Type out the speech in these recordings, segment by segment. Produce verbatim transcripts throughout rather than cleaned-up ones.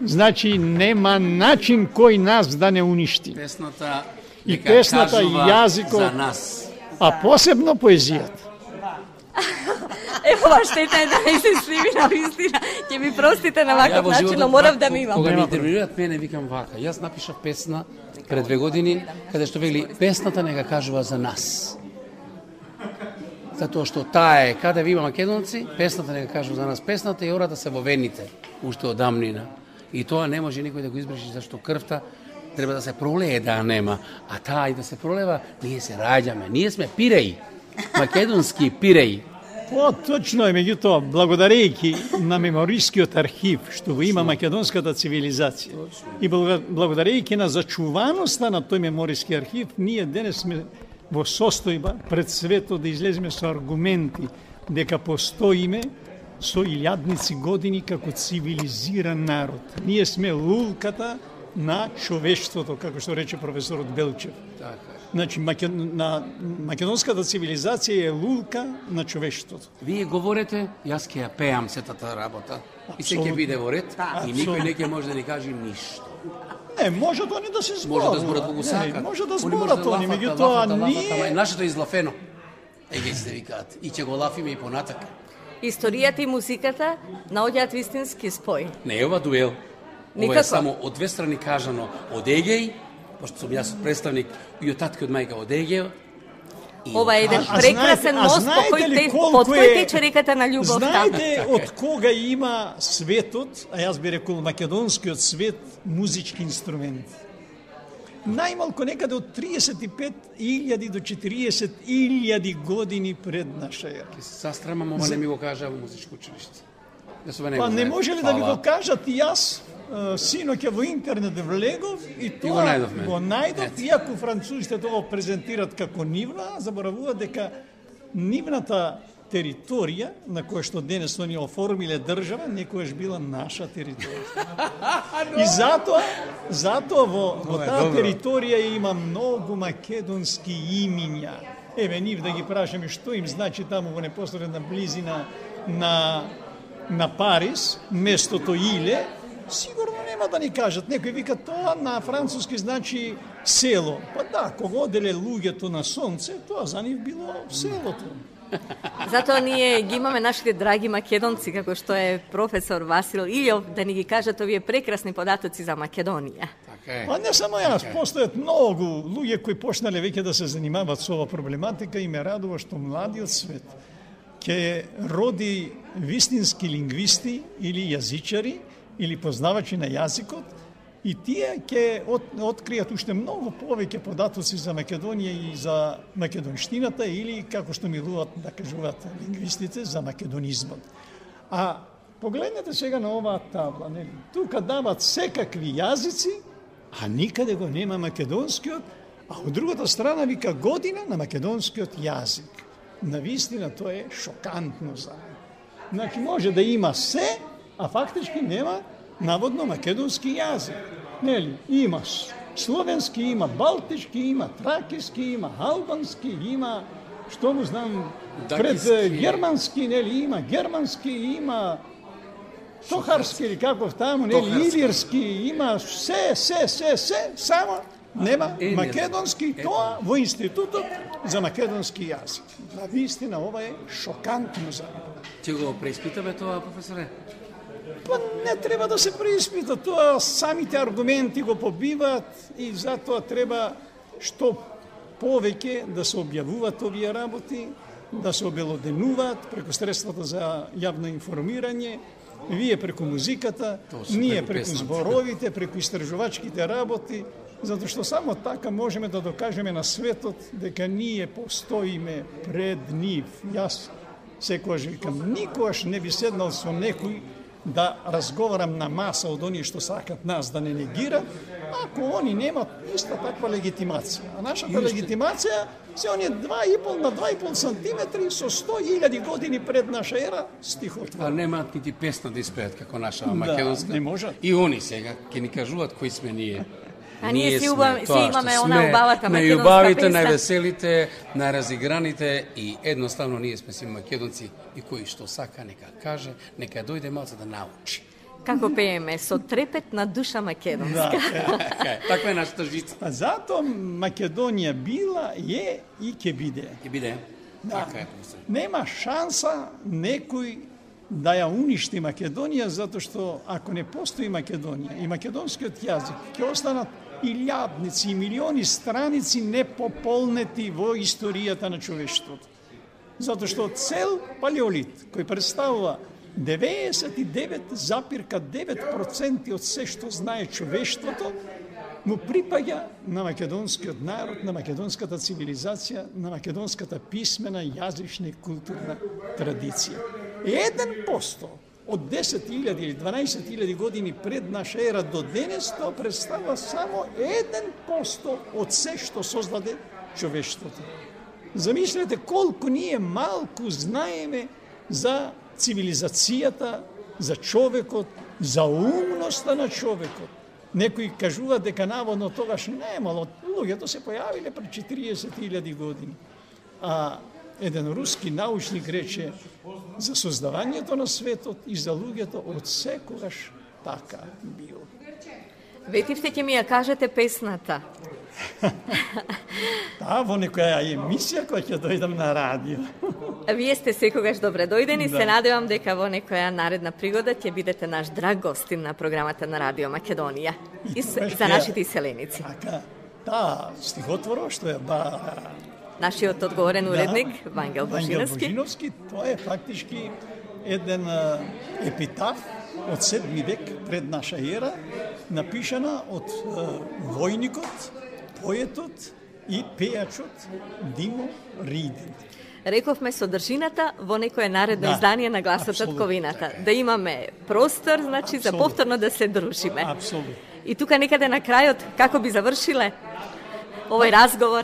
Значи нема начин кој нас да не уништи. Песната и песната и јазикот за нас. А посебно поезијата. Ево, штета е да не се сливи на вистина. Ќе ми простите на ваков начин, но морав да ми имам. Кога ми интервјуират мене, викам вака. Јас напишав песна пред две години, каде што вели песната нека кажува за нас. Затоа што таа е, каде ви има македонци, песната нека кажува за нас. Песната е ората се во вените, уште од дамнина. И тоа не може никој да го избриши, зашто крвта треба да се пролее да нема. А таа и да се пролева, ние се раѓаме. Ние сме пиреи. Македонски пиреи. По, точно е, меѓутоа, благодарејќи на меморискиот архив, што го има македонската цивилизација, и благодарејќи на зачуваноста на тој мемориски архив, ние денес сме во состојба пред светот да излеземе со аргументи дека постоиме со илјадници години како цивилизиран народ. Ние сме лулката на човештвото, како што рече професорот Белчев. Така. Значи, на македонската цивилизација е лулка на човештвото. Вие говорите, јас ќе ја пеам сетата работа. И се ќе биде во ред, и никој не ќе може да ни каже ништо. Не, може тоа не да се зборат. Може да зборат кога сакат. Може да зборат они, меѓутоа ние... Нашето е излафено. Еге се викаат. И ќе го лафиме и понатак. Историјата и музиката наоѓаат вистински спој. Не е ова дуел. Ова е само од две страни кажано од Егеј, пошто сум јас представник и од татко и од мајка од Егеј. Ова е еден прекрасен мост по кој под кој тече реката на љубовта. Знаете од кога има светот, а јас би рекол македонскиот свет, музички инструменти? Најмалку некаде од триесет и пет илјади до четириесет илјади години пред наша ера. Ке се састрамам, ова не ми го кажа во музичко училиште. Па не може ли да ви го кажат и јас? Синоќа во интернет влегов и тоа го најдовме. Го најдов, иако французите тоа презентират како нивна, заборавуваат дека нивната територија на која што денес они оформиле држава, некојаш била наша територија. И затоа, затоа во, во таа територија има многу македонски имиња. Еве нив да ги прашаме што им значи таму во непосредна близина на на Париз, местото Иле, сигурно нема да ни кажат. Некој вика тоа на француски значи село. Па да, кога оделе луѓето на сонце, тоа за нив било селото. Затоа ние ги имаме нашите драги македонци, како што е професор Васил Илјов, да ни ги кажат овие прекрасни податоци за Македонија. Така е. Па не само јас, постојат многу луѓе кои почнале веќе да се занимаваат со ова проблематика и ме радува што младиот свет ќе роди вистински лингвисти или јазичари или познавачи на јазикот и тие ќе от, откријат уште многу повеќе податоци за Македонија и за македонштината или, како што милуват да кажуваат лингвистите, за македонизмот. А погледнете сега на оваа табла, нели? Тука дават секакви јазици, а никаде го нема македонскиот, а од другата страна вика година на македонскиот јазик. Навистина тоа е шокантно за мене. Значи може да има се, а фактички нема наводно македонски јазик. Нели? Има словенски, има балтички, има тракиски, има албански, има, што му знам, пред германски, нели, има германски, има сохарски или каков таму, нели, илирски, има се, се, се, се, само нема македонски, тоа во институтот за македонски јазик. На вистина ова е шокантно за мене. Ќе го преиспитаме тоа, професоре? Па не треба да се преиспита, тоа самите аргументи го побиваат и затоа треба што повеќе да се објавуваат овие работи, да се обелоденуваат преку средствата за јавно информирање, вие преку музиката, ние преку зборовите, преку истражувачките работи, затоа што само така можеме да докажеме на светот дека ние постоиме пред нив. Јас секогаш викам, никогаш не би седнал со некој да разговарам на маса од оние што сакат нас да не негират, ако они немат иста таква легитимација. А нашата легитимација се оние два и пол на два и пол сантиметри со сто илјади години пред наша ера стихотвор. А немаат нити песна да испеат како наша македонска. Да, не можат. И они сега ќе ни кажуваат кои сме ние. А ние си, уба, си имаме она убавата македонска најубавите, песна. највеселите, најразиграните и едноставно ние сме си македонци и кој што сака нека каже, нека дојде малце да научи. како пееме, со трепет на душа македонска. Да. Таква е нашата жица. А затоа Македонија била, е и ќе биде. Ќе биде. Да. Така е, професор. Нема шанса некој да ја уништи Македонија, затоа што ако не постои Македонија и македонскиот јазик, ќе останат илјадници и милиони страници непополнети во историјата на човештвото. Затоа што цел палеолит, кој представува деветдесет и девет запирка девет проценти од се што знае човештвото, му припаѓа на македонскиот народ, на македонската цивилизација, на македонската писмена, јазична и културна традиција. Еден посто од десет илјади или дванаесет илјади години пред наша ера до денес, тоа представува само еден посто од се што создаде човештвото. Замислете колку ние малку знаеме за цивилизацијата, за човекот, за умноста на човекот. Некои кажуваат дека наводно тогаш немало, луѓето се појавиле пред четириесет илјади години. А еден руски научник рече за создавањето на светот и за луѓето од секогаш така било. Ветивте ќе ми ја кажете песната. Да, во некоја емисија која ќе дојдам на радио. Вие сте секогаш добре дојдени, Да. се надевам дека во некоја наредна пригода ќе бидете наш драг гостин на програмата на Радио Македонија и с- тогаш за ќе- нашите иселеници. Така, да, стихотворот што е ба Нашиот одговорен уредник Вангел Вангел Божиновски. Божиновски, тоа е фактички еден а, епитаф од седми век пред наша ера, напишана од а, војникот, поетот и пејачот Димо Ридин. Рековме содржината во некое наредно Да, издание на Гласот од апсолутно. Ковината. Да имаме простор, значи, за Апсолутно. повторно да се дружиме. Апсолутно. И тука некаде на крајот, како би завршиле овој разговор?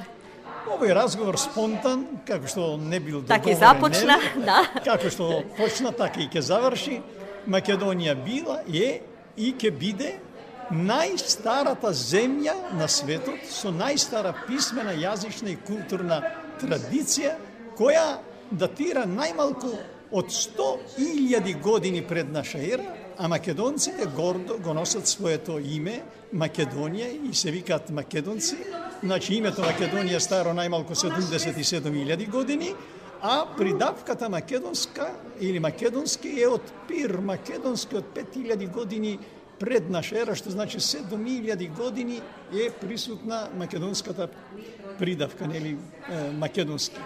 Овој разговор спонтан, како што не бил Така и договорен, започна, нели? да. Како што почна, така и ќе заврши. Македонија била, е и ќе биде најстарата земја на светот со најстара писмена, јазична и културна традиција, која датира најмалку од сто илјади години пред наша ера, а македонците гордо го носат своето име Македонија и се викаат македонци. Значи името Македонија старо најмалку седумдесет и седум илјади години, а придавката македонска или македонски е од пир македонски од пет илјади години пред наша ера, што значи седум илјади години е присутна македонската придавка, нели е, македонски.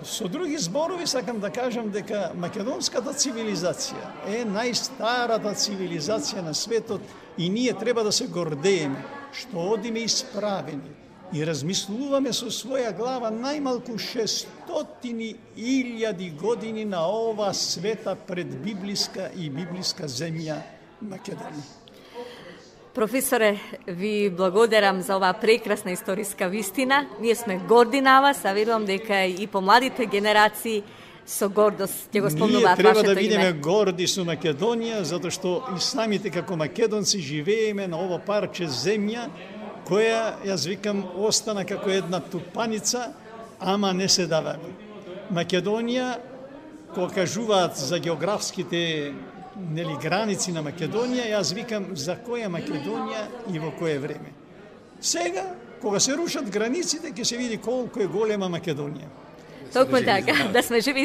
Со други зборови сакам да кажам дека македонската цивилизација е најстарата цивилизација на светот и ние треба да се гордееме што одиме исправени и размислуваме со своја глава најмалку шестстотини илјади години на ова света предбиблиска и библиска земја Македонија. Професоре, ви благодарам за оваа прекрасна историска вистина. Ние сме горди на вас, а верувам дека и помладите генерации со гордост ќе го Ние спомнуваат треба вашето да бидеме име. горди со Македонија, затоа што и самите како македонци живееме на ово парче земја, која, јас викам, остана како една тупаница, ама не се даваме. Македонија, кога кажуваат за географските нели граници на Македонија, јас викам за која Македонија и во кое време. Сега, кога се рушат границите, ќе се види колку е голема Македонија. Токму така, да сме живи